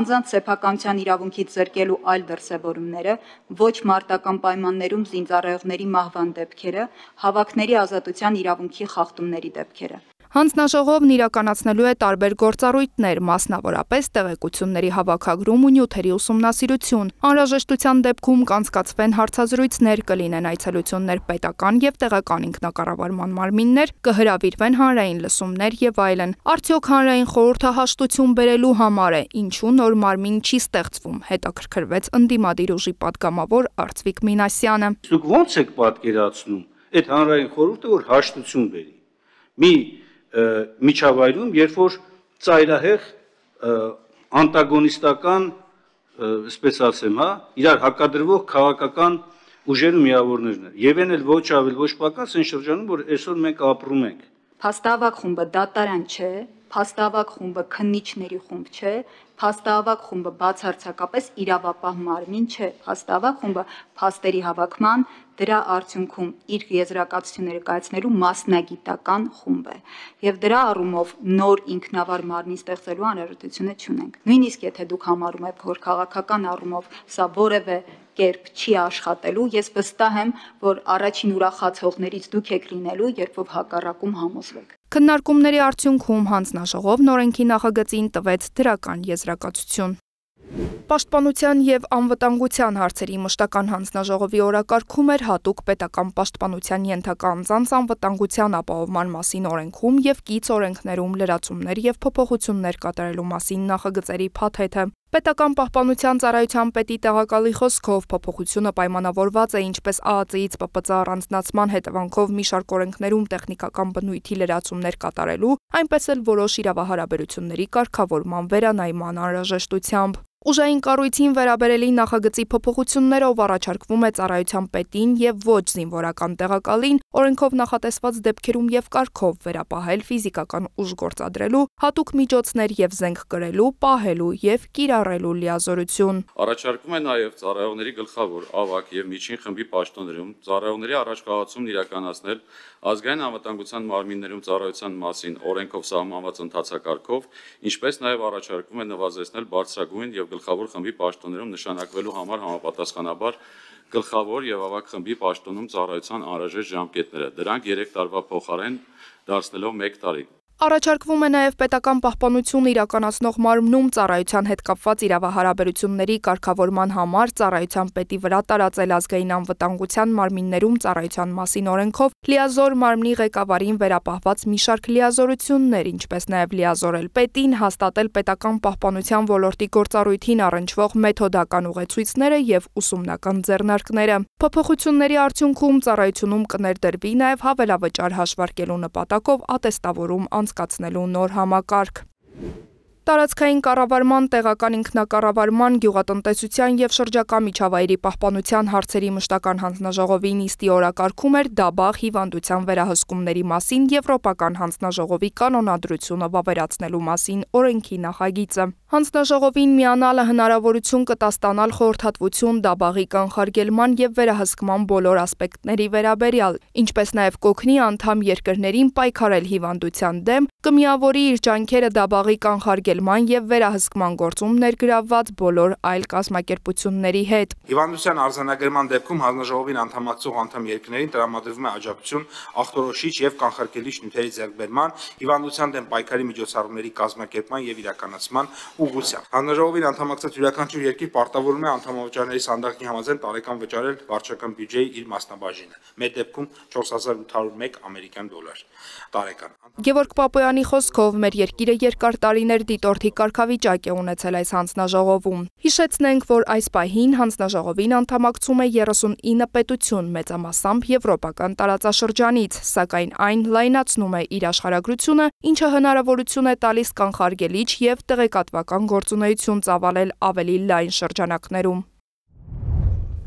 անձանց սեփականության իրավունքից զրկելու այլ դրսևորումները, ոչ մարտական պայմաններում զինծառայողների մահվան դեպքերը, հավաքների ազատության իրավունքի խախտումների դեպքերը։ Հանձնաժողովն իրականացնելու է տարբեր գործառույթներ, մասնավորապես տեղեկությունների հավաքագրում ու նյութերի ուսումնասիրություն։ Անհրաժեշտության դեպքում կանցկացվեն հարցազրույցներ, կլինեն այցելություններ պետական եւ տեղական ինքնակառավարման մարմիններ, կհրավիրվեն հանրային լսումներ եւ այլն։ Արդյոք հանրային խորհուրդը հաշտություն բերելու համար է, ինչու նոր մարմին չի ստեղծվում, հետաքրքրվեց ընդդիմադիր ուժի պատգամավոր Արծվիկ Մինասյանը։ Դուք ո՞նց եք պատկերացնում այդ հանրային խորհուրդը, որ հաշտություն բերի։ Մի միջավայրում, երբ որ ծայրահեղ անտագոնիստական, այսպես ասեմ, հա, իրար հակադրվող քաղաքական ուժեր ու միավորներն են։ Եվ այն էլ ոչ ավել ոչ պակաս այն շրջանում, որ այսօր մենք ապրում ենք։ Փաստահավաք խումբը դատարան չէ, փաստահավաք խումբը քննիչների խումբ չէ, փաստահավաք խումբը բացարձակապես իրավապահ մարմին չէ, փաստահավաք խումբը փաստերի հավաքման, դրա արդյունքում իր եզրակացությունները կայացնելու մասնագիտական խումբ է։ Եվ դրա առումով նոր ինքնավար մարմին ստեղծելու անհրաժեշտությունը չունենք։ Նույնիսկ եթե դուք համարում եք, որ քաղաքական առումով սա որևէ կերպ չի աշխատելու, ես վստահ եմ, որ առաջին ուրախացողներից դուք եք լինելու, երբ որ հակառակում համոզվեք։ Քննարկումների արդյունքում հանձնաժողովն օրենքի նախագծին տվեց դրական եզրակացություն։ Պաշտպանության եւ անվտանգության հարցերի մշտական հանձնաժողովի օրակարգում էր հատուկ պետական պաշտպանության ենթակա անձանց անվտանգության ապահովման մասին օրենքում եւ կից օրենքներում լրացումներ եւ փոփոխություններ կատարելու մասին նախագծերի փաթեթը։ Պետական պահպանության ծառայության պետի տեղակալի խոսքով փոփոխությունը պայմանավորված է ինչպես ԱԱԾ-ից ՊՊԾ առանձնացման հետևանքով մի շարք օրենքներում տեխնիկական բնույթի լրացումներ կատարելու, այնպես էլ որոշ իրավահարաբերությունների կարգավորման վերանայման անհրաժեշտությամբ։ Ուժային կառույցին վերաբերելի նախագծի փոփոխություններով առաջարկվում է ծառայության պետին եւ ոչ զինվորական տեղակալին օրենքով նախատեսված դեպքերում եւ կարգով վերապահել ֆիզիկական ուժ գործադրելու, հատուկ միջոցներ եւ զենք կրելու, պահելու եւ կիրառելու լիազորություն։ Առաջարկվում է նաեւ ծառայողների գլխավոր, ավագ եւ միջին խմբի պաշտոններում ծառայողների առաջխաղացումն իրականացնել ազգային անվտանգության մարմիններում ծառայության մասին օրենքով սահմանված ընթացակարգով, ինչպես նաեւ առաջարկվում է նվազեցնել բարձրագույն եւ գլխավոր խմբի պաշտոններում նշանակվելու համար համապատասխանաբար գլխավոր եւ ավագ խմբի պաշտոնում ծառայության անհրաժեշտ ժամկետները, դրանք երեք տարվա փոխարեն դարձնելով մեկ տարի։ Առաջարկվում է նաև պետական պահպանություն իրականացնող մարմնում ծառայության հետ կապված իրավահարաբերությունների կարգավորման համար ծառայության պետի վրա տարածել ազգային անվտանգության մարմիններում ծառայության մասին օրենքով լիազոր մարմնի ղեկավարին վերապահված մի շարք լիազորություններ, ինչպես նաև լիազորել պետին, հաստատել պետական պահպանության ոլորտի գործառույթին առնչվող մեթոդական ուղեցույցները եւ ուսումնական ձեռնարկները։ Փոփոխությունների արդյունքում ծառայությունում կներդրվի նաև հավելավճար հաշվարկելու նպատակով ատեստավորում անցկացնելու նոր համակարգ։ Տարածքային կառավարման, տեղական ինքնակառավարման, գյուղատնտեսության եւ շրջակա միջավայրի պահպանության հարցերի մշտական հանձնաժողովի նիստի օրակարգում էր դաբախ հիվանդության վերահսկումների մասին Եվրոպական հանձնաժողովի կանոնադրությունը վավերացնելու մասին օրենքի նախագիծը։ Հանձնաժողովին միանալը հնարավորություն կտա ստանալ խորհրդատվություն դաբաղի կանխարգելման եւ վերահսկման բոլոր ասպեկտների վերաբերյալ, ինչպես նաեւ կօգնի անդամ երկրներին պայքարել հիվանդության դեմ, կմիավորի իր ջանքերը դաբաղի կանխարգելման փոխարկելման եւ վերահսկման գործում ներգրավված բոլոր այլ կազմակերպությունների հետ։ Հիվանդության արձանագրման դեպքում հանձնաժողովին անդամակցող անդամ երկրներին տրամադրվում է աջակցություն ախտորոշիչ եւ կանխարգելիչ նյութերի ձեռքբերման, հիվանդության դեմ պայքարի միջոցառումների կազմակերպման եւ իրականացման ուղղությամբ։ Հանձնաժողովին անդամակցած յուրաքանչյուր երկիր պարտավորվում է անդամավճարների ստանդարտի համաձայն տարեկան վճարել վարչական բյուջեի իր մասնաբաժինը։ Մեր դեպքում չորս հազար ութ հարյուր մեկ ամերիկյան դոլար տարեկան։ Գևորգ Պապոյանի խոսքով մեր երկիրը երկար տարիներ դիտորդի կարգավիճակ է ունեցել այս հանձնաժողովում։ Հիշեցնենք, որ այս պահին հանձնաժողովին անդամակցում է երեսունինը պետություն, մեծամասամբ եվրոպական տարածաշրջանից, սակայն այն լայնացնում է իր աշխարհագրությունը, ինչը հնարավորություն է տալիս կանխարգելիչ եւ տեղեկատվական գործունեություն ծավալել ավելի լայն շրջանակներում։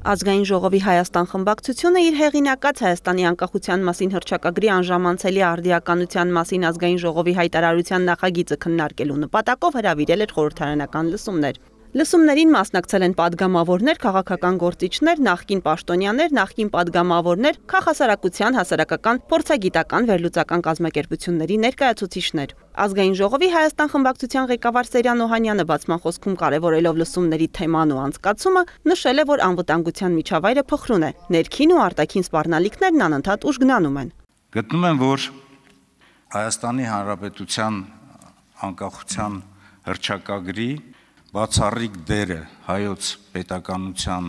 Ազգային ժողովի Հայաստան խմբակցությունը իր հեղինակած Հայաստանի անկախության մասին հռչակագրի անժամանցելի արդիականության մասին ազգային ժողովի հայտարարության նախագիծը քննարկելու նպատակով հրավիրել էր խորհրդարանական լսումներ։ Լսումներին մասնակցել են падգամավորներ, քաղաքական գործիչներ, նախկին պաշտոնյաներ, նախկին падգամավորներ, քաղաքասարակության, հասարակական, փորձագիտական, վերլուծական կազմակերպությունների ներկայացուցիչներ։ Ազգային ժողովի Հայաստան խմբակցության ղեկավար Սերյան Օհանյանը բացման խոսքում կարևորելով լսումների թեման ու անցկացումը, նշել է, որ անվտանգության միջավայրը փխրուն է, ներքին ու արտաքին սպառնալիքներն անընդհատ ուժգնանում են։ Գտնում եմ, որ Հայաստանի Հանրապետության անկախության հռչակագրի բացառիկ դերը հայոց պետականության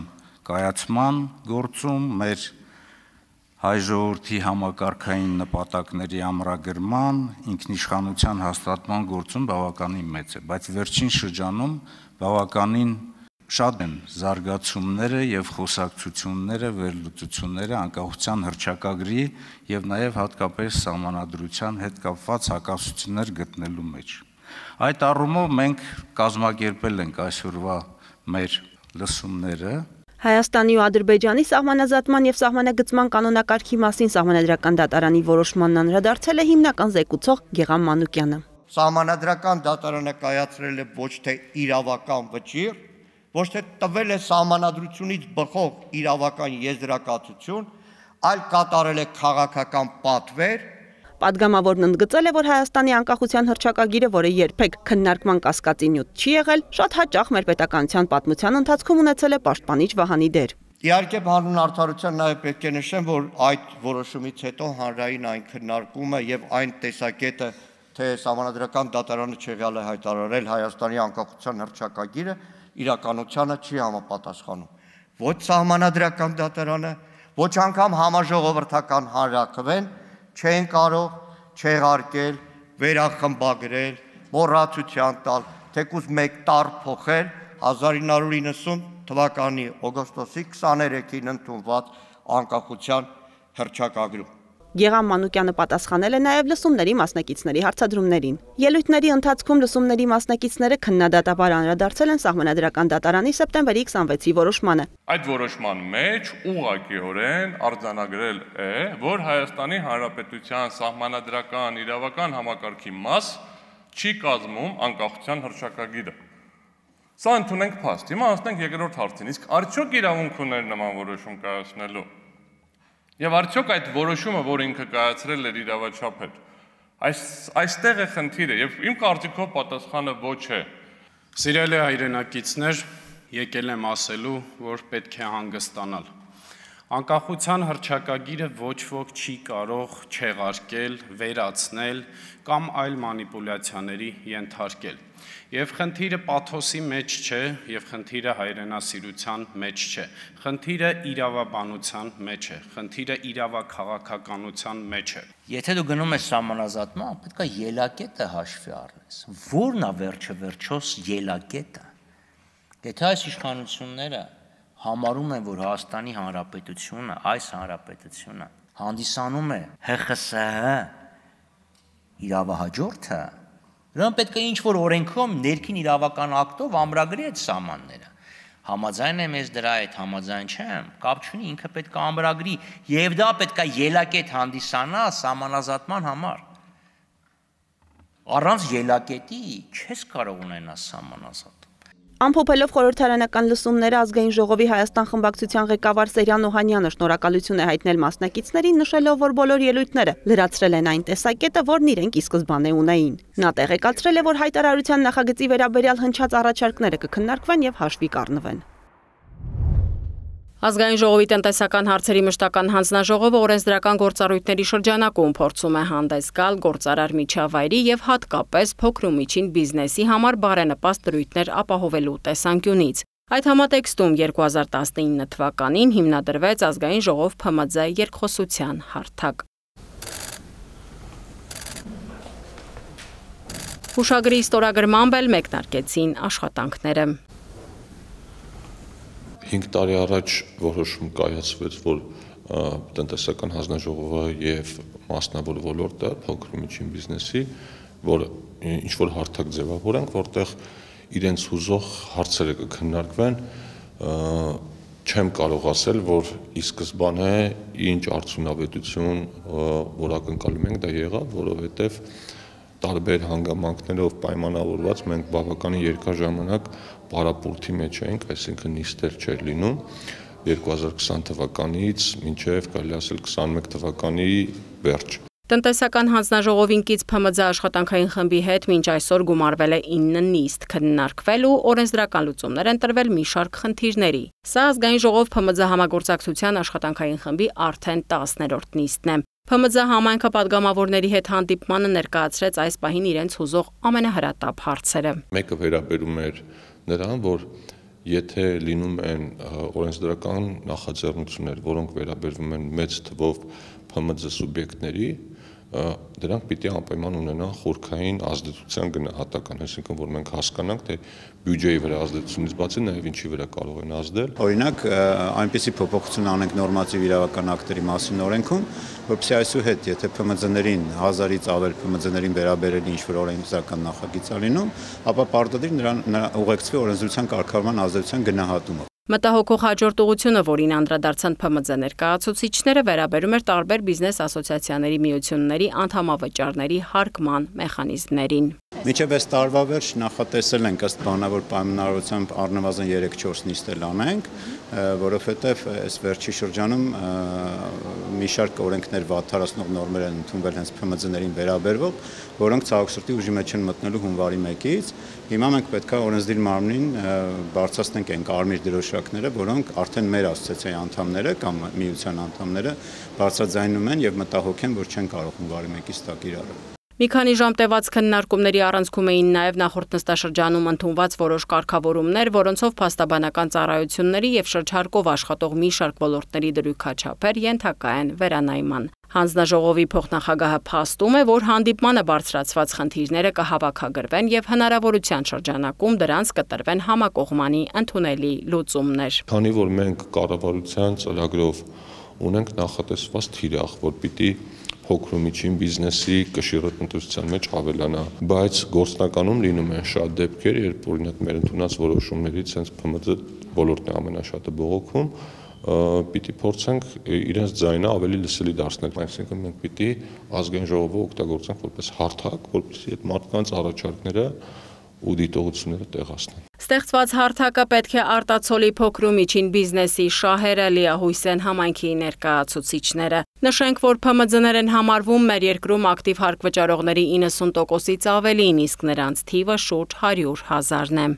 կայացման գործում, մեր հայ ժողովրդի համակարգային նպատակների ամրագրման, ինքնիշխանության հաստատման գործում բավականին մեծ է, բայց վերջին շրջանում բավականին շատ են զարգացումները եւ խոսակցությունները, վերլուծությունները անկախության հռչակագրի եւ նաեւ հատկապես սահմանադրության հետ կապված հակասություններ գտնելու մեջ։ Այդ առումով մենք կազմակերպել ենք այսօրվա մեր լսումները։ Հայաստանի ու Ադրբեջանի սահմանազատման եւ սահմանագծման կանոնակարգի մասին Սահմանադրական դատարանի որոշմանն անդրադարձել է հիմնական զեկուցող Գեգամ Մանուկյանը։ Սահմանադրական դատարանը կայացրել է ոչ թե իրավական վճիռ, ոչ թե տվել է սահմանադրությունից բխող իրավական եզրակացություն, այլ կատարել է քաղաքական պատվեր։ Պատգամավորն ընդգծել է, որ Հայաստանի անկախության հռչակագիրը, որը երբեք քննարկման կասկածի նյութ չի եղել, շատ հաճախ մեր պետականության պատմության ընթացքում ունեցել է պաշտպանիչ վահանի դեր։ Իհարկե, հանուն արդարության նաև պետք է նշեմ, որ այդ որոշումից հետո հանրային այն քննարկումը եւ այն տեսակետը, թե Սահմանադրական դատարանը չեղյալ է հայտարարել Հայաստանի անկախության հռչակագիրը, իրականությանը չի համապատասխանում։ Ոչ Սահմանադրական դատարանը, ոչ անգամ համաժողովրդական հանրաքվեն չեն կարող չեղարկել, վերախմբագրել, մոռացության տալ, թեկուզ մեկ տառ փոխել հազար ինը հարյուր իննսուն թվականի օգոստոսի քսաներեքին ընդունված անկախության հռչակագրում։ Գեգամ Մանուկյանը պատասխանել է նաև լսումների մասնակիցների հարցադրումներին։ Ելույթների ընթացքում լսումների մասնակիցները քննադատաբար անդրադարձել են Սահմանադրական դատարանի սեպտեմբերի քսանվեցի որոշմանը։ Այդ որոշման մեջ ուղղակիորեն արձանագրել է, որ Հայաստանի Հանրապետության սահմանադրական իրավական համակարգի մաս չի կազմում անկախության հռչակագիրը։ Սա ընդունենք փաստ։ Հիմա անցնենք երկրորդ հարցին։ Իսկ արդյոք իրավունք ուներ նման որոշում կայացնելու։ Եվ արդյոք այդ որոշումը, որ ինքը կայացրել էր իրավաչափ հետ, այս այստեղ է խնդիրը, եւ իմ կարծիքով պատասխանը ոչ է։ Սիրելի հայրենակիցներ, եկել եմ ասելու, որ պետք է հանգստանալ։ Անկախության հռչակագիրը ոչ ոք չի կարող չեղարկել, վերացնել կամ այլ մանիպուլյացիաների ենթարկել։ Եվ խնդիրը պաթոսի մեջ չէ, եւ խնդիրը հայրենասիրության մեջ չէ։ Խնդիրը իրավաբանության մեջ է, խնդիրը իրավաքաղաքականության մեջ է։ Եթե դու գնում ես սահմանազատման, պետք է ելակետը հաշվի առնես։ Որն է վերջը վերջոս ելակետը։ Եթե այս իշխանությունները համարում են, որ Հայաստանի Հանրապետությունը, այս հանրապետությունը հանդիսանում է Հ Խ С Հ իրավահաջորդը, նրան պետք է ինչ-որ օրենքով ներքին իրավական ակտով ամրագրի այդ սահմանները։ Համաձայն եմ ես դրա հետ, համաձայն չեմ, կապ չունի, ինքը պետք է ամրագրի եւ դա պետք է ելակետ հանդիսանա սահմանազատման համար։ Առանց ելակետի չես կարող ունենալ սահմանազատ։ Ամփոփելով խորհրդարանական լսումները ազգային ժողովի Հայաստան խմբակցության ղեկավար Սերյան Օհանյանը շնորհակալություն է հայտնել մասնակիցներին, նշելով, որ բոլոր ելույթները լրացրել են այն տեսակետը, որն իրենք ի սկզբանե ունեին։ Նա տեղեկացրել է, որ հայտարարության նախագծի վերաբերյալ հնչած առաջարկները կքննարկվեն եւ հաշվի կառնվեն։ Ազգային ժողովի տնտեսական հարցերի մշտական հանձնաժողովը օրենսդրական գործառույթների շրջանակում փորձում է հանդես գալ գործարար միջավայրի եւ հատկապես փոքր ու միջին բիզնեսի համար բարենպաստ դրույթներ ապահովելու տեսանկյունից։ Այդ համատեքստում երկու հազար տասնինը թվականին հիմնադրվեց ազգային ժողով Փ M Ծ երկխոսության հարթակ։ Հուշագրի ստորագրմամբ էլ մեկնարկեցին աշխատանքները։ Հինգ տարի առաջ որոշում կայացվեց, որ տնտեսական հանձնաժողովը եւ մասնավոր ոլորտը փոքր ու միջին բիզնեսի, որ ինչ որ հարթակ ձևավորենք, որտեղ իրենց հուզող հարցերը կքննարկվեն, չեմ կարող ասել, որ ի սկզբանե ինչ արդյունավետություն որ ակնկալում ենք դա եղավ, որովհետեւ տարբեր հանգամանքներով պայմանավորված մենք բավականին երկար ժամանակ պարապորտի մեջ էինք, այսինքն նիստեր չէր լինում երկու հազար քսան թվականից մինչև կարելի ասել քսանմեկ թվականի վերջ։ Տնտեսական հանձնաժողովին կից Փ M Ծ աշխատանքային խմբի հետ մինչ այսօր գումարվել է ինը նիստ, քննարկվել ու օրենսդրական լուծումներ են տրվել մի շարք խնդիրների։ Սա ազգային ժողով Փ M Ծ համագործակցության աշխատանքային խմբի արդեն տասներորդ նիստն է։ Փ M Ծ համայնքը падգամավորների հետ հանդիպմանը ներկայացրեց այս պահին իրենց հուզող ամենահրատապ հարցերը։ Մեկը վերաբերում էր նրան, որ եթե լինում են օրենսդրական նախաձեռնություններ, որոնք վերաբերվում են մեծ թվով Փ M Ծ սուբյեկտների, դրանք պիտի անպայման ունենան խորքային ազդեցության գնահատական, այսինքն որ մենք հասկանանք, թե բյուջեի վրա ազդեցությունից բացի նաև ինչի վրա կարող են ազդել։ Օրինակ, այնպիսի փոփոխություն անենք նորմատիվ իրավական ակտերի մասին օրենքում, որպեսզի այսուհետ, եթե Փ M Ծ-ներին հազարից ավել Փ M Ծ-ներին վերաբերել ինչ որ օրենսդրական նախագիծ է լինում, ապա պարտադիր նրան ուղեկցվի օրենսդրության կարգավորման ազդեցության գնահատումը։ Մտահոգող հաջորդ ուղղությունը, որին անդրադարձան Փ M Ծ ներկայացուցիչները, վերաբերում էր տարբեր բիզնես ասոցիացիաների միությունների անդամավճարների հարկման մեխանիզմներին։ Մինչև այս տարվա վերջ նախատեսել ենք ըստ բանավոր պայմանավորությամբ առնվազն երեք-չորս նիստել անենք, որովհետև այս վերջի շրջանում մի շարք օրենքներ վատթարացնող նորմեր են ընդունվել հենց Փ M Ծ-ներին վերաբերող, որոնք ցավոք սրտի ուժի մեջ են մտնելու հունվարի մեկից։ Հիմա մենք պետք է օրենսդիր մարմնին բարձրացնենք այն կարմիր դրոշակները, որոնք արդեն մեր ասոցիացիայի անդամները կամ միության անդամները բարձրաձայնում են եւ մտահոգ են, որ չեն կարող հունվարի մեկից տակ իրարել։ Մի քանի ժամ տևած քննարկումների առանցքում էին նաև նախորդ նստաշրջանում ընդունված որոշ կարգավորումներ, որոնցով փաստաբանական ծառայությունների եւ շրջարկով աշխատող մի շարք ոլորտների դրույքաչափեր ենթակա են վերանայման։ Հանձնաժողովի փոխնախագահը փաստում է, որ հանդիպմանը բարձրացված խնդիրները կհավաքագրվեն եւ հնարավորության շրջանակում դրանց կտրվեն համակողմանի ընդունելի լուծումներ։ Քանի որ մենք կառավարության ծրագրով ունենք նախատեսված թիրախ, որ պիտի փոքր ու միջին բիզնեսի կշիռը տնտեսության մեջ ավելանա, բայց գործնականում լինում են շատ դեպքեր, երբ օրինակ մեր ընդունած որոշումներից հենց Փ M Ծ ոլորտն է ամենաշատը բողոքում, պիտի փորձենք իրենց ձայնը ավելի լսելի դարձնել, այսինքն մենք պիտի ազգային ժողովը օգտագործենք որպես հարթակ, որպեսզի այդ մարդկանց առաջարկները ու դիտողությունները տեղացնեն։ Ստեղծված հարթակը պետք է արտացոլի փոքր ու միջին բիզնեսի շահերը, լիահույս են համայնքի ներկայացուցիչները։ Նշենք, որ Փ M Ծ-ներ են համարվում մեր երկրում ակտիվ հարկ վճարողների իննսուն տոկոսից ավելին, իսկ նրանց թիվը շուրջ հարյուր հազարն է։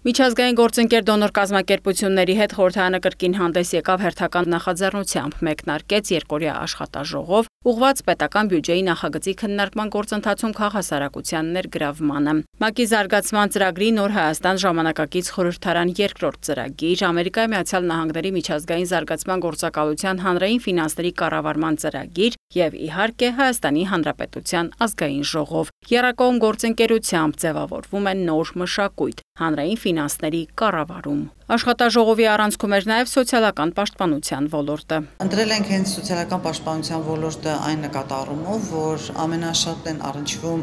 Միջազգային գործընկեր դոնոր կազմակերպությունների հետ խորհրդարանը կրկին հանդես եկավ հերթական նախաձեռնությամբ, մեկնարկեց երկօրյա աշխատաժողով, ուղղված պետական բյուջեի նախագծի քննարկման գործընթացում քաղաքասարակության ներգրավմանը։ ՄԱԿ-ի զարգացման ծրագրի Նոր Հայաստան ժամանակակից խորհրդարան երկրորդ ծրագիր, Ամերիկայի Միացյալ Նահանգների միջազգային զարգացման գործակալության հանրային ֆինանսների կառավարման ծրագիր եւ իհարկե Հայաստանի Հանրապետության ազգային ժողով։ Եռակողմ գործընկերությամբ ձևավորվում է նոր մշակույթ՝ հանրային ֆինանսների կառավարում։ Աշխատաժողովի առանցքում էր նաև սոցիալական պաշտպանության ոլորտը։ Ընտրել ենք հենց սոցիալական պաշտպանության ոլորտը այն նկատառումով, որ ամենաշատն են առնչվում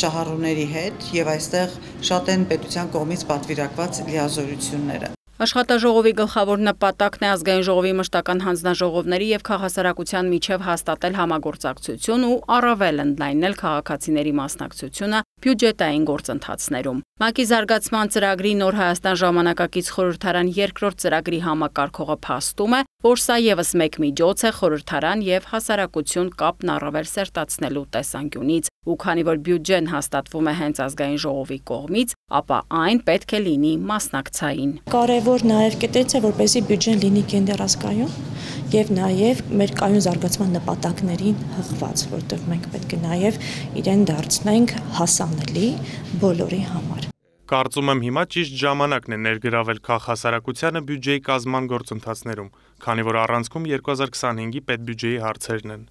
շահառուների հետ եւ այստեղ շատ են պետության կողմից պատվիրակված լիազորությունները։ Աշխատաժողովի գլխավոր նպատակն է ազգային ժողովի մշտական հանձնաժողովների եւ քաղաքասարակության միջև հաստատել համագործակցություն ու առավել ընդլայնել քաղաքացիների մասնակցությունը բյուջետային գործընթացներում։ ՄԱԿ-ի զարգացման ծրագրի Նոր Հայաստան ժամանակակից խորհրդարան երկրորդ ծրագրի համակարգողը փաստում է, որ սա եւս մեկ միջոց է խորհրդարան եւ հասարակություն կապն առավել սերտացնելու տեսանկյունից, ու քանի որ բյուջեն հաստատվում է հենց ազգային ժողովի կողմից, ապա այն պետք է լինի մասնակցային։ Կարևոր նաեւ կետերից է, որպեսզի բյուջեն լինի կենտրոնազգայուն եւ նաեւ մեր կայուն զարգացման նպատակներին հղված, որտեղ մենք պետք է նաեւ իրեն դարձնենք հասանելի բոլորի համար։ Կարծում եմ հիմա ճիշտ ժամանակն է ներգրավել քաղաքասարակությանը բյուջեի կազմման գործընթացներում, քանի որ առանցքում երկու հազար քսանհինգի պետբյուջեի հարցերն են։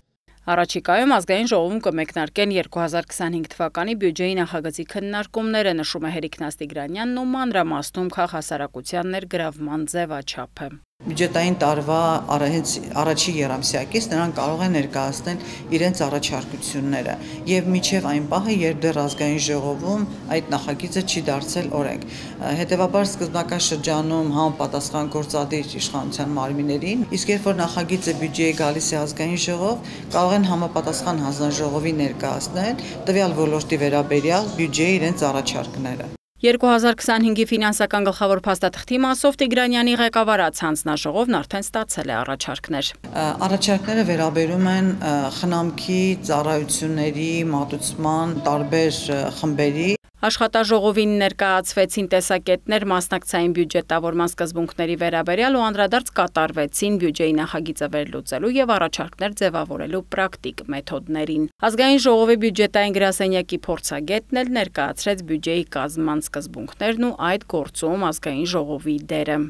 Առաջիկայում ազգային ժողովում կմեկնարկեն երկու հազար քսանհինգ թվականի բյուջեի նախագծի քննարկումները, նշում է Հերիկ Նաստիգրանյանն ու մանրամասնում քաղաքասարակության ներգրավման ձևաչափը։ Բյուջետային տարվա առաջի երամսյակից նրանք կարող են ներկայացնել իրենց առաջարկությունները եւ միջև այն պահը, երբ դեռ ազգային ժողովում այդ նախագիծը չի դարձել օրենք։ Հետևաբար սկզբնական շրջանում համապատասխան գործադիր իշխանության մարմիններին, իսկ երբ որ նախագիծը բյուջեի գալիս է ազգային ժողով, կարող են համապատասխան հանձնաժողովի ներկայացնել տվյալ ոլորտի վերաբերյալ բյուջեի իրենց առաջարկները։ երկու հազար քսանհինգի ֆինանսական գլխավոր փաստաթղթի մասով Տիգրանյանի ղեկավարած հանձնաժողովն արդեն ստացել է առաջարկներ։ Առաջարկները վերաբերում են խնամքի, ծառայությունների, մատուցման տարբեր խմբերի։ Աշխատաժողովին ներկայացվեցին տեսակետներ մասնակցային բյուջետավորման սկզբունքների վերաբերյալ ու անդրադարձ կատարվեցին բյուջեի նախագիծը վերլուծելու եւ առաջարկներ ձևավորելու պրակտիկ մեթոդներին։ Ազգային ժողովի բյուջետային գրասենյակի փորձագետն էլ ներկայացրեց բյուջեի կազմման սկզբունքներն ու այդ գործում ազգային ժողովի դերը։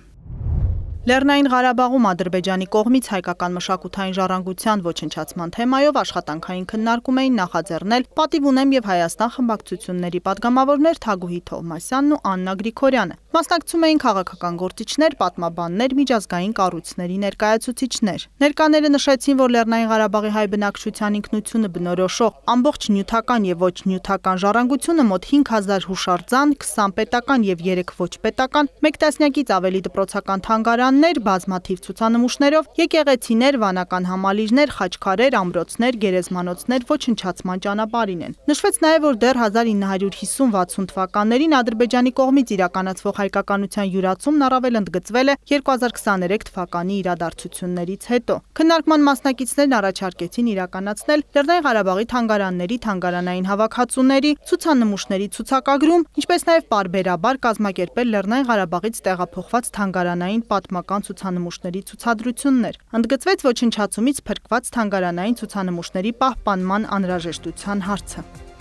Լեռնային Ղարաբաղում Ադրբեջանի կողմից հայկական մշակութային ժառանգության ոչնչացման թեմայով աշխատանքային քննարկում էին նախաձեռնել Պատիվ ունեմ եւ Հայաստան խմբակցությունների падգամավորներ Թագուհի Թովմասյանն ու Աննա Գրիգորյանը։ Մասնակցում էին քաղաքական գործիչներ, պատմաբաններ, միջազգային կառույցների ներկայացուցիչներ։ Ներկաները նշեցին, որ Լեռնային Ղարաբաղի հայ բնակչության ինքնությունը բնորոշող ամբողջ նյութական եւ ոչ նյութական ժառանգությունը մոտ հինգ հազար հուշարձան, քսան պետական եւ երեք ոչ պետական, մեկ տասնյակից ավելի դպրոցական թանգարաններ, բազմաթիվ ցուցանմուշներով, եկեղեցիներ, վանական համալիրներ, խաչքարեր, ամրոցներ, գերեզմանոցներ ոչնչացման ճանապարհին են։ Նշվեց նաև, որ դեռ հազար ինը հարյուր հիսուն վաթսուն թվականներին Ադրբեջանի կողմից իրականացվող հայկականության յուրացումն առավել ընդգծվել է երկու հազար քսաներեք թվականի իրադարձություններից հետո։ Քննարկման մասնակիցներն առաջարկեցին իրականացնել Լեռնային Ղարաբաղի թանգարանների թանգարանային հավաքածուների, ցուցանմուշների ցուցակագրում, ինչպես նաև պարբերաբար կազմակերպել Լեռնային Ղարաբաղից տեղափոխված թանգարանային պատմական ցուցանմուշների ցուցադրություններ։ Ընդգծվեց ոչնչացումից փրկված թանգարանային ցուցանմուշների պահպանման անհրաժեշտության հարցը։